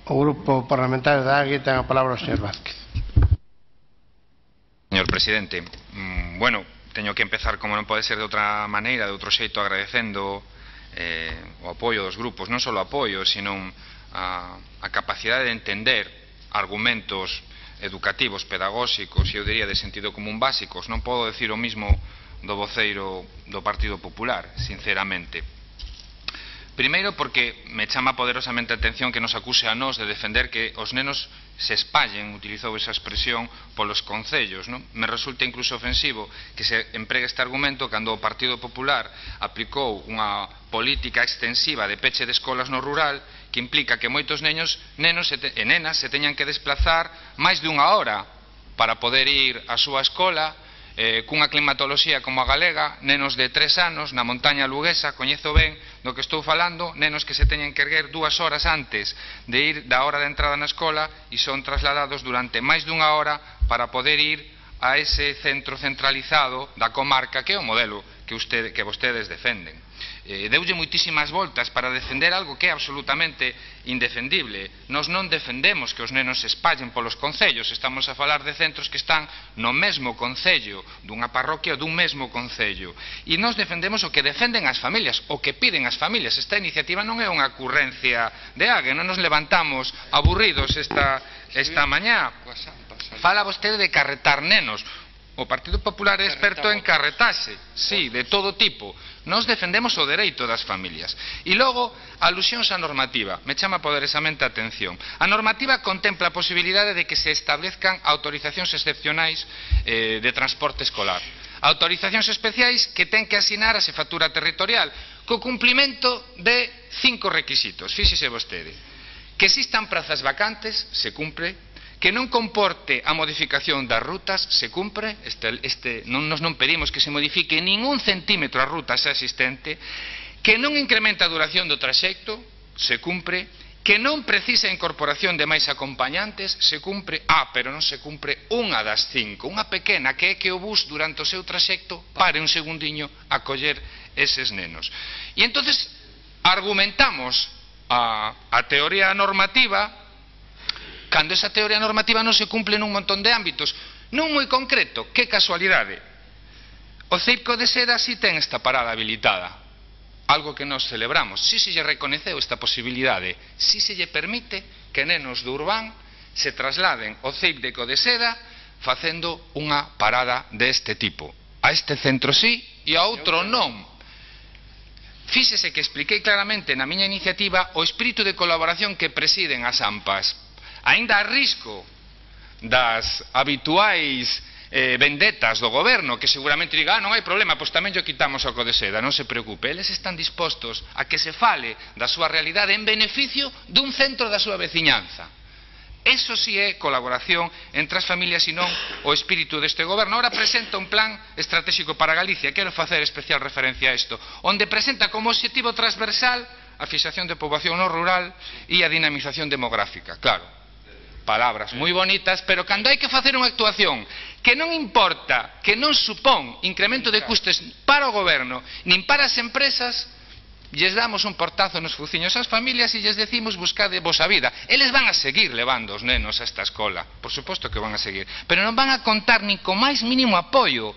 O Grupo Parlamentario da AGUE ten a palabra o señor Vázquez. Señor Presidente, bueno, teño que empezar, como non pode ser de outra maneira, de outro xeito, agradecendo o apoio dos grupos, non só o apoio, sino a capacidade de entender argumentos educativos, pedagóxicos e eu diría de sentido común básicos. Non podo decir o mismo do voceiro do Partido Popular, sinceramente. Primeiro porque me chama poderosamente a atención que nos acuse a nós de defender que os nenos se espallen, utilizou esa expresión, polos concellos, non? Me resulta incluso ofensivo que se empregue este argumento cando o Partido Popular aplicou unha política extensiva de peche de escolas no rural que implica que moitos nenos e nenas se teñan que desplazar máis dunha hora para poder ir á súa escola cunha climatoloxía como a galega, nenos de 3 anos na montaña luguesa, coñezo ben do que estou falando, nenos que se teñen que erguer 2 horas antes de ir da hora de entrada na escola e son trasladados durante máis dunha hora para poder ir a ese centro centralizado da comarca que é o modelo que vostedes defenden. Deulle moitísimas voltas para defender algo que é absolutamente indefendible. Nós non defendemos que os nenos se espallen polos concellos, estamos a falar de centros que están no mesmo concello, dunha parroquia ou dun mesmo concello. E nós defendemos o que defenden as familias, o que piden as familias. Esta iniciativa non é unha ocurrencia de AGUE, non nos levantamos aburridos esta mañá. Fala vostede de carretar nenos. O Partido Popular é experto en carretase, sí, de todo tipo. Nós defendemos o dereito das familias. E logo, alusións á normativa. Me chama poderosamente a atención. A normativa contempla a posibilidade de que se establezcan autorizacións excepcionais de transporte escolar. Autorizacións especiais que ten que asinar a xefatura territorial co cumplimento de 5 requisitos. Fíxese vostede. Que existan prazas vacantes, se cumpre. Que non comporte a modificación das rutas, se cumpre, nos non pedimos que se modifique ningún centímetro a ruta xa existente, que non incrementa a duración do traxecto, se cumpre, que non precisa a incorporación de máis acompañantes, se cumpre, pero non se cumpre unha das 5, unha pequena, que é que o bus durante o seu traxecto pare un segundiño a coller eses nenos. E entonces argumentamos a teoría normativa cando esa teoría normativa non se cumple nun montón de ámbitos, non moi concreto. Que casualidade. O Circo de Seda si ten esta parada habilitada, algo que nos celebramos. Si se lle reconeceu esta posibilidade, si se lle permite que nenos do Urbán se trasladen ao Circo de Seda facendo unha parada deste tipo. A este centro sí e a outro non. Fíxese que expliquei claramente na miña iniciativa o espírito de colaboración que presiden as AMPAs. Aínda a risco das habituais vendetas do goberno, que seguramente diga, non hai problema, pois tamén lle quitamos o Circo de Seda. Non se preocupe, eles están dispostos a que se fale da súa realidade en beneficio dun centro da súa veciñanza. Eso sí é colaboración entre as familias e non o espírito deste goberno. Ahora presenta un plan estratégico para Galicia, quero facer especial referencia a isto, onde presenta como objetivo transversal a fixación de poboación no rural e a dinamización demográfica. Claro, palabras moi bonitas, pero cando hai que facer unha actuación que non importa, que non supón incremento de custes para o goberno nin para as empresas, lles damos un portazo nos fuciños ás familias e lles decimos buscade vos a vida. Eles van a seguir levando os nenos a esta escola, por suposto que van a seguir, pero non van a contar nin co máis mínimo apoio,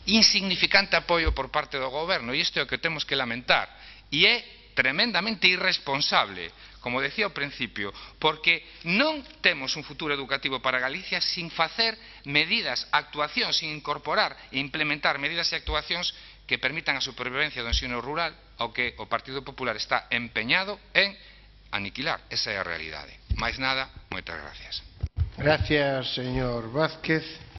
insignificante apoio por parte do goberno, e isto é o que temos que lamentar, e é tremendamente irresponsable, como decía ao principio, porque non temos un futuro educativo para Galicia sin facer medidas, actuacións, sin incorporar e implementar medidas e actuacións que permitan a supervivencia do ensino rural, ao que o Partido Popular está empeñado en aniquilar. Esa é a realidade. Máis nada, moitas gracias. Gracias, señor Vázquez.